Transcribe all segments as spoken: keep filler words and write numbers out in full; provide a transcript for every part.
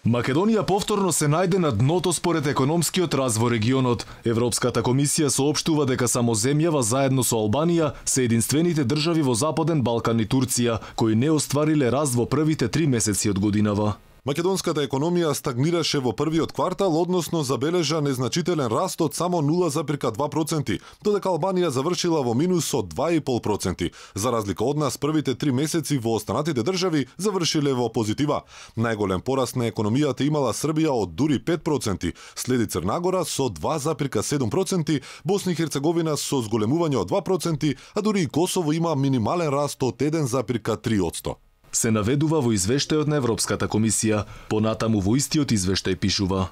Македонија повторно се најде на дното според економскиот развој регионот. Европската комисија соопштува дека само земјава заедно со Албанија се единствените држави во Западен Балкан и Турција кои не оствариле раст во првите три месеци од годинава. Македонската економија стагнираше во првиот квартал, односно забележа незначителен раст од само нула зарез два проценти, додека Албанија завршила во минус од два и пол проценти. За разлика од нас, првите три месеци во останатите држави завршиле во позитива. Најголем пораст на економијата имала Србија од дури пет проценти, следи Црнагора со два зарез седум проценти, Босна и Херцеговина со зголемување од два проценти, а дури и Косово има минимален раст од еден зарез три проценти. Се наведува во извештајот на Европската комисија. Понатаму во истиот извештај пишува: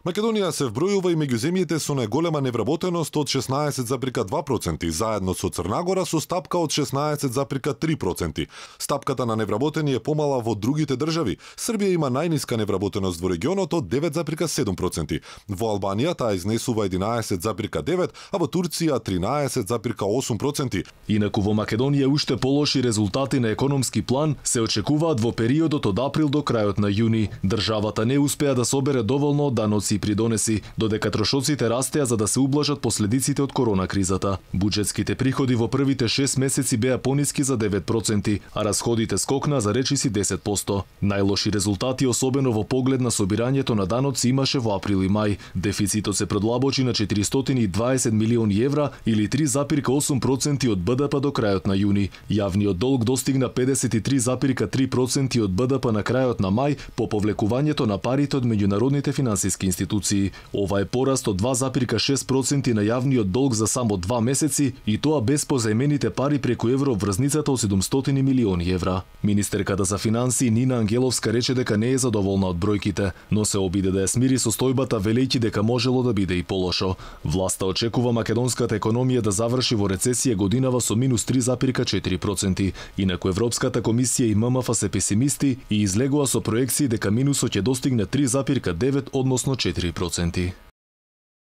Македонија се вбројува и меѓу земјите со најголема невработеност од шеснаесет зарез два проценти, заедно со Црнагора со стапка од шеснаесет зарез три проценти. Стапката на невработени е помала во другите држави. Србија има најниска невработеност во регионот од девет зарез седум проценти. Во Албанија таа изнесува единаесет зарез девет, а во Турција тринаесет зарез осум проценти. Инаку во Македонија уште полоши резултати на економски план се очекуваат во периодот од април до крајот на јуни. Државата не успеа да собере доволно даноци и придонеси, додека трошоците растеа за да се ублажат последиците од корона кризата. Буџетските приходи во првите шест месеци беа пониски за девет проценти, а расходите скокна за речиси десет проценти. Најлоши резултати, особено во поглед на собирањето на даноци, имаше во април и мај. Дефицитот се продлабочи на четиристотини и дваесет милиони евра или три зарез осум проценти од БДП до крајот на јуни. Јавниот долг достигна педесет и три зарез три проценти од БДП на крајот на мај по повлекувањето на парите од меѓународните финансиски институции. Ова е пораст од два зарез шест проценти на јавниот долг за само два месеци, и тоа без позајмените пари преку евроврзницата од седумстотини милиони евра. Министерката за финансии Нина Ангеловска рече дека не е задоволна од бројките, но се обиде да ја смири состојбата, велејќи дека можело да биде и полошо. Власта очекува македонската економија да заврши во рецесија годинава со минус три зарез четири проценти. Инаку Европската комисија и ММФ се песимисти и излегува со проекции дека минусот ќе достигне три зарез девет, односно четири проценти.